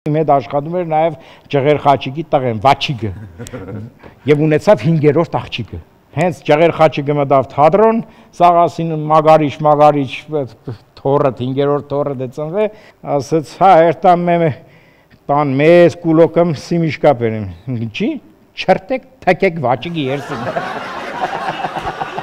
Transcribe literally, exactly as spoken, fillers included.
Իմ հետ աշխատում էր նաև Ջղեր Խաչիկի տղեն, Վաչիգը, եւ ունեցավ հինգերորդ աղջիկը։ Հենց Ջղեր Խաչիկը մտավ թատրոն, Սաղասին մագարիչ, մագարիչ թորը, հինգերորդ թորը դե ծնվե, ասաց, հա, երտամ մեմ տան մեզ կուլոկում սիմիշկա բերեմ։ Չի, չրտեք, թակեք Վաչիգի երսին։